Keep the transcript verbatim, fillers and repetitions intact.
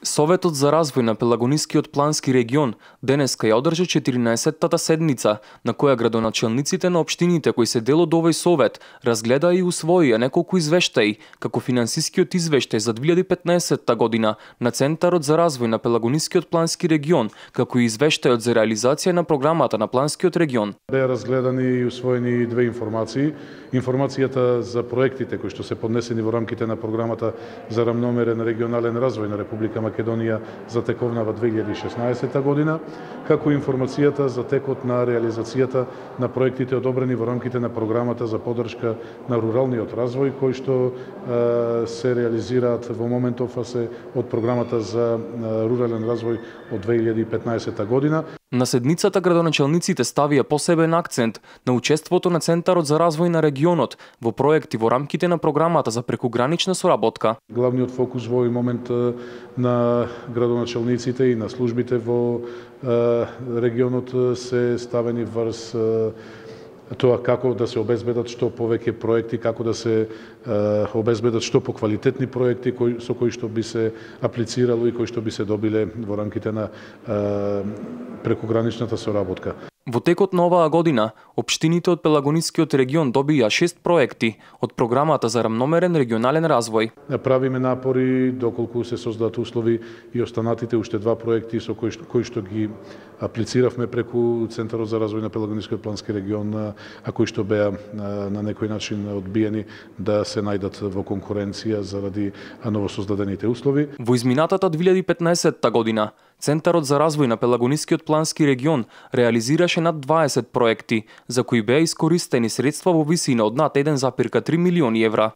Советот за развој на Пелагонискиот плански регион денеска ја одржа четиринаесеттата седница, на која градоначелниците на општините кои се дел од овој совет разгледаа и усвоија неколку извештаи, како финансискиот извештај за две илјади и петнаесетта година на Центарот за развој на Пелагонискиот плански регион, како и извештајот за реализација на програмата на планскиот регион. Беа разгледани и усвоени две информации. Информацијата за проектите кои што се поднесени во рамките на програмата за рамномерен регионален развој на Република Македонија за тековнава две илјади и шеснаесетта година, како и информацијата за текот на реализацијата на проектите одобрени во рамките на програмата за поддршка на руралниот развој, кои што е, се реализираат во моментов се од програмата за рурален развој од две илјади и петнаесетта година. На седницата градоначелниците ставија посебен акцент на учеството на Центарот за развој на регионот во проекти во рамките на програмата за прекугранична соработка. Главниот фокус во овој момент на градоначелниците и на службите во регионот се ставени врз тоа како да се обезбедат што повеќе проекти, како да се е, обезбедат што поквалитетни проекти кои, со кои што би се аплицирало и кои што би се добиле во рамките на е, прекуграничната соработка. Во текот на оваа година, општините од Пелагонискиот регион добија шест проекти од програмата за рамномерен регионален развој. Правиме напори доколку се создадат услови и останатите уште два проекти со кои што, кои што ги аплициравме преку Центарот за развој на Пелагонискиот плански регион, а кои што беа на некој начин одбиени да се најдат во конкуренција заради новосоздадените услови. Во изминатата две илјади и петнаесетта година, Центарот за развој на Пелагонискиот плански регион реализираше над дваесет проекти, за кои беа искористени средства во висина од над еден зарез три милиони евра.